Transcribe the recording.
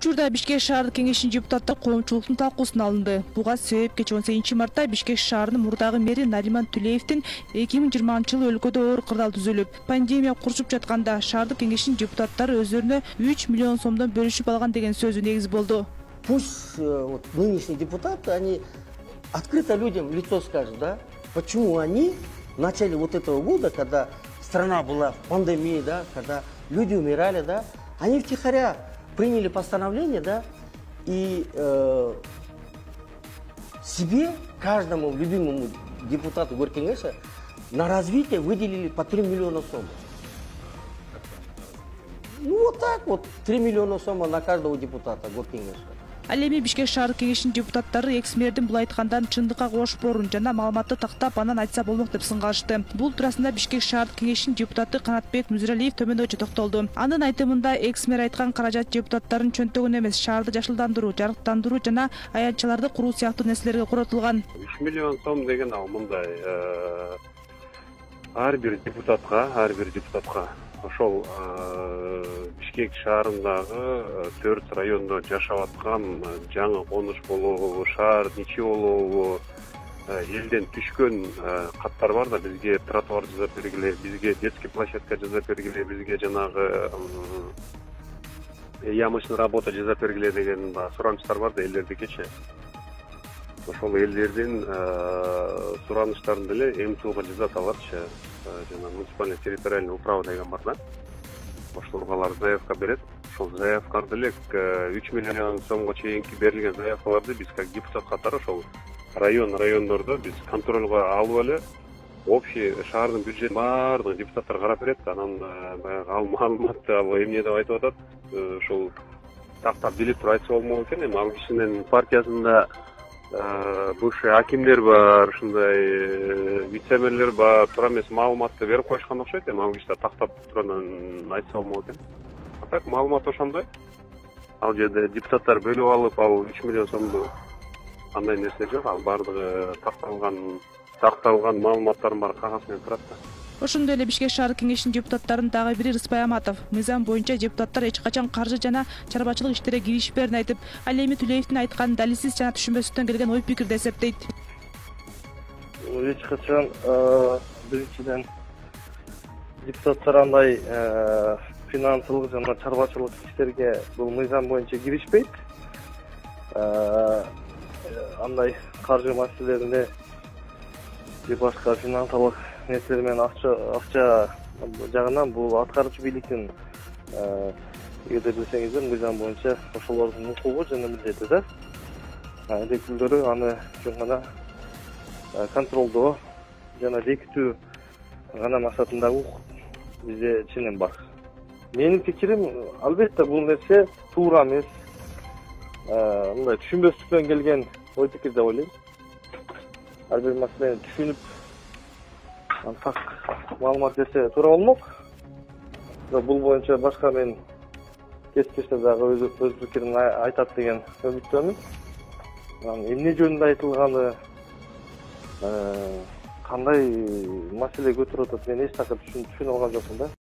Учурда Бишкек шаардык кеңешинин депутаттары коомчулуктун талкуусуна алынды. Буга себеп кечээ 18 мартта Бишкек шаарынын мурдагы мэри Нариман Тулеевдин 2020-жылы өлкөдө оор кырдаал түзүлүп, пандемия курчуп жатканда шаардык кеңешинин депутаттары өздөрүнө 3 миллион сомдон бөлүшүп алган деген сөзү негиз болду. Пусть вот нынешние депутаты, они открыто людям в лицо скажут, да, почему они в начале вот этого года, когда страна была в пандемии, да, когда люди умирали, да, они втихаря приняли постановление, да, и себе, каждому любимому депутату Горкеңеша на развитие выделили по 3 миллиона сом. Ну вот так вот, 3 миллиона сом на каждого депутата Горкеңеша. Ал эми Бишкек шаардык кеңешинин депутаттары экс-мэрдин бул айткандан чындыкка кошпорун жана маалыматты тактап анан айтса болмок деп сынгалышты. Бул туурасында Бишкек шаардык кеңешинин депутаты Канатбек Мүзүралиев төмөндөгүчө токтолду. Анын айтымында экс-мэр айткан каражат депутаттардын чөнтөгүнө эмес, шаарды жашылдандыруу, жарыктандыруу жана аянтчаларды куруу сыяктуу нерселерге коротулган. 3 миллион сом деген ал мындай ар бир депутатка ошол Бишкек шаарындагы 4 райондо жашап аткан жаңы конуш болобу, шаар ичи болобу, элден түшкөн каттар бар да, бизге тротуар жасап бергиле, бизге детский площадка жасап бергиле, бизге жанагы ямочный работа жасап бергиле деген суранычтар бар да элдердикичи. Ошол элдердин сураныштарын деле МТУга жасап алатчы, жана муниципальный территориальный управа деген бар да. Ошолорго алар заявка берет. Ошол заявкаларды эле 3 миллион сомго чейинки берилген заявкаларды биз как депутат катары ошол райондордо биз контролго алып эле общий шаардын бюджетин баардыгын депутаттар карап берет. Анан баягы ал маалыматты ал эмне деп айтып атат, ошол тактап билип туруп айтса болмок экен. Эми ал кишинин партиясында бывший акимдер бар, ушундай вице-мэрлер бар, туура эмес маалыматты берип коюшкан окшойт. Эми ал кишилер тактап туруп айтса болмок экен. А так маалымат ошондой. Ал жерде депутаттар бөлүп алып, ал 3 миллион сомду андай нерсе жок. Ал баардыгы такталган маалыматтардын баары кагаз менен турат да. Ошондой эле Бишкек шаардык кеңешинин депутаттарынын дагы бири Рыспай Аматов мыйзам боюнча депутаттар эч качан каржы жана чарбачылык иштерге киришпээрин айтып, ал эми Тулеевдин айтканын далилсиз жана түшүнбөстүктөн келген ой пикир деп эсептейт. Эч качан биринчиден депутаттар андай финансылык жана чарбачылык иштерге бул мыйзам боюнча киришпейт. Андай каржы маселелерине же башка финансылык нерселер менен акча жагынан бул аткаруучу бийликтин эгерде билсеңиздер мыйзам боюнча ошолордун укугу жана милдети да. Элекүүлдөрү аны жөн гана контролдоо жана бекитүү гана максатындагы укук бизде чынын бар. Менин пикирим, албетте бул нерсе туура эмес. Мындай түшүнбөстүктөн келген ой пикир деп ойлойм. Ар бир маселени түшүнүп так маалымат берсе туура болмок. Бул боюнча башка мен кесиптештер дагы өз пикирин айтат деген үмүттөмүн. Эмне жөнүндө айтылганы, кандай маселе көтөрүп атат, мен эч такыр түшүнө алган жокмун да.